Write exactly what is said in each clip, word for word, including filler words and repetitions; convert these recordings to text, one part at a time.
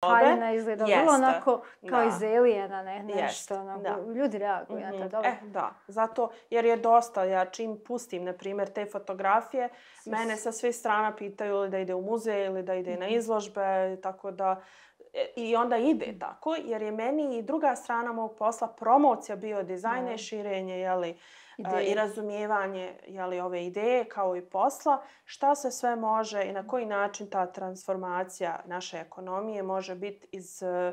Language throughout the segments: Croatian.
haljina izgleda vrlo Jeste, onako kao da. iz Aliena, ne, nešto Jest, onako. da. Ljudi reaguju na Mhm. to, dobro. E, da. Zato, jer je dosta, ja čim pustim, na primjer, te fotografije, Svi mene su- sa svih strana pitaju ili da ide u muzej ili da ide na izložbe, tako da e, i onda ide tako, jer je meni i druga strana mog posla promocija bio dizajna i širenje, jeli, e, Ideje. i razumijevanje, jeli, ove ideje kao i posla, šta se sve može i na koji način ta transformacija naše ekonomije može biti iz e,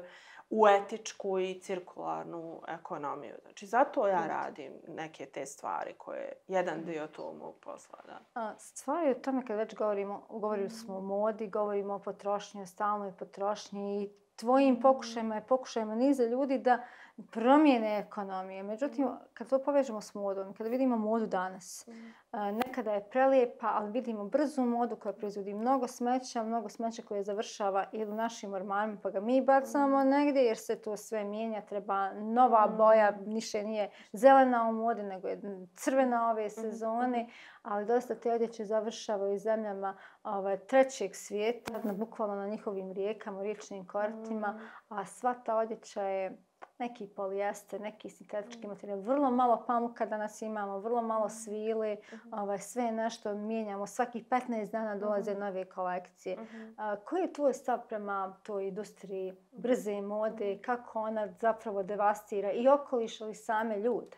u etičku i cirkularnu ekonomiju. Znači, zato ja radim neke te stvari koje je jedan dio tog mog posla. Da. A, stvar je u tome kad već govorimo, govorili smo o modi, govorimo o potrošnji, o stalnoj potrošnji i tvojim pokušajima i pokušajima niza ljudi da promijene ekonomije. Međutim, kad to povežemo s modom, kada vidimo modu danas, a, nekada je prelijepa, ali vidimo brzu modu koja proizvodi mnogo smeća, mnogo smeća koje završava ili u našim ormanima, pa ga mi bacamo negdje jer se to sve mijenja, treba nova boja, više nije zelena u modi, nego je crvena ove sezone, ali dosta te odjeće završava u zemljama ovaj, trećeg svijeta, na, bukvalno na njihovim rijekama, riječnim kortima, a sva ta odjeća je neki polijester, neki sintetički materijal, vrlo malo pamuka danas imamo, vrlo malo svile, ovaj, sve nešto mijenjamo, svakih petnaest dana dolaze nove kolekcije. A, koji je tvoj stav prema toj industriji brze mode, kako ona zapravo devastira i okoliš ali same ljude?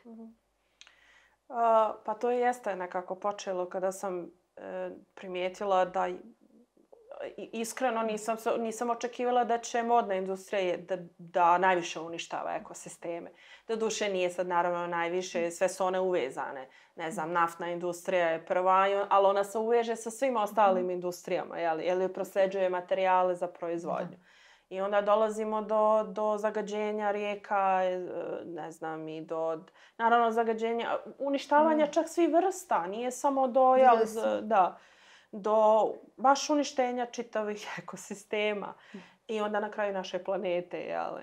Uh, pa to jeste nekako počelo kada sam e, primijetila da i- iskreno nisam, se- nisam očekivala da će modna industrija da, da najviše uništava ekosisteme. Doduše nije sad naravno najviše, sve su one uvezane. Ne znam, naftna industrija je prva, i on- ali ona se uveže sa svim ostalim industrijama, jel, jer prosljeđuje materijale za proizvodnju. I onda dolazimo do, do zagađenja rijeka, e, ne znam, i do, naravno, zagađenja, uništavanja čak svih vrsta, nije samo do, jel, Vidjeli smo. z- da, do baš uništenja čitavih ekosistema. I onda na kraju naše planete, jel,